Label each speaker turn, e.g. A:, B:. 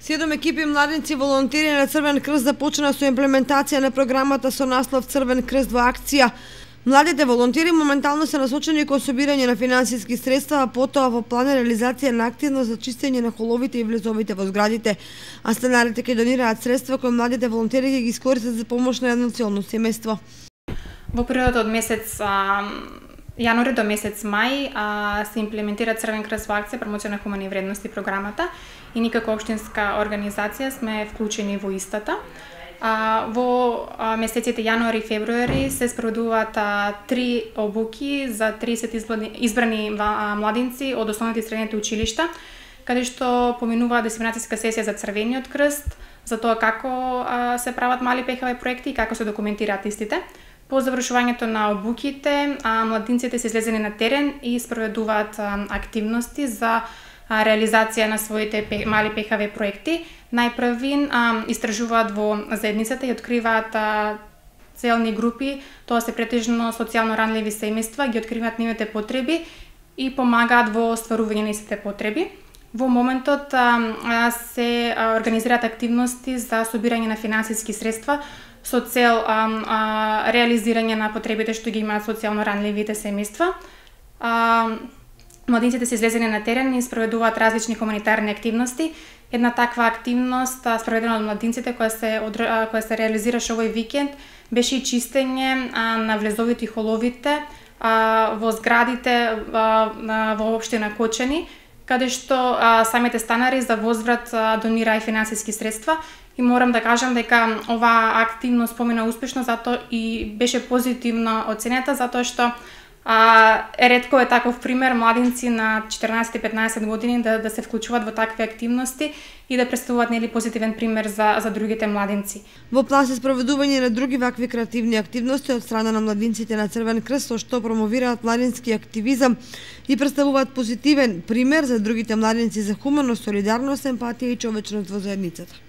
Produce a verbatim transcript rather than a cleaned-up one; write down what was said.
A: Седум екипи младинци волонтери на Црвен крст започна со имплементација на програмата со наслов Црвен крст во акција. Младите волонтери моментално се насочени кон собирање на финансиски средства, а потоа во план е реализација на активност за чистење на холовите и влезовите во зградите. А станарите ќе донираат средства кои младите волонтери ќе ги искористат за помош на едно целно семејство.
B: Во периодот од месец а, јануари до месец мај а, се имплементира Црвен крст во акција промоција на хумани вредности програмата и ние како општинска организација сме вклучени во истата. А, во а, месеците јануари и февруари се спроведуваат а, три обуки за триесет избрани, избрани а, младинци од основните и средните училишта, каде што поминуваат дисеминацијска сесија за Црвениот крст, за тоа како а, се прават мали пехави проекти и како се документираат истите. По завршувањето на обуките, а, младинците се излезени на терен и спроведуваат а, активности за а, реализација на своите пе, мали пехави проекти. Најпрви а, истражуваат во заедницата и откриваат а, целни групи, тоа се претежно социјално ранливи семејства, ги откриваат нивните потреби и помагаат во остварување на истите потреби. Во моментот а, а, се а, организираат активности за собирање на финансиски средства со цел а, а, реализирање на потребите што ги имаат социјално ранливите семејства. А, младинците се излезени на терен и спроведуваат различни хуманитарни активности. Една таква активност а, спроведена од младинците која се а, која се реализираше овој викенд беше и чистење а, на влезовите и холовите а, во зградите а, во општина Кочани, каде што а, самите станари за возврат а, донираа финансиски средства. И морам да кажам дека оваа активност помина успешно, затоа и беше позитивно оценета, затоа што а, ретко е таков пример младинци на четиринаесет и петнаесет години да, да се вклучуваат во такви активности и да представуваат нели позитивен пример за, за другите младинци.
A: Во план се спроведување на други вакви креативни активности од страна на младинците на Црвен крст, со што промовираат младински активизам и представуваат позитивен пример за другите младинци за хуманост, солидарност, емпатија и човечност во заедницата.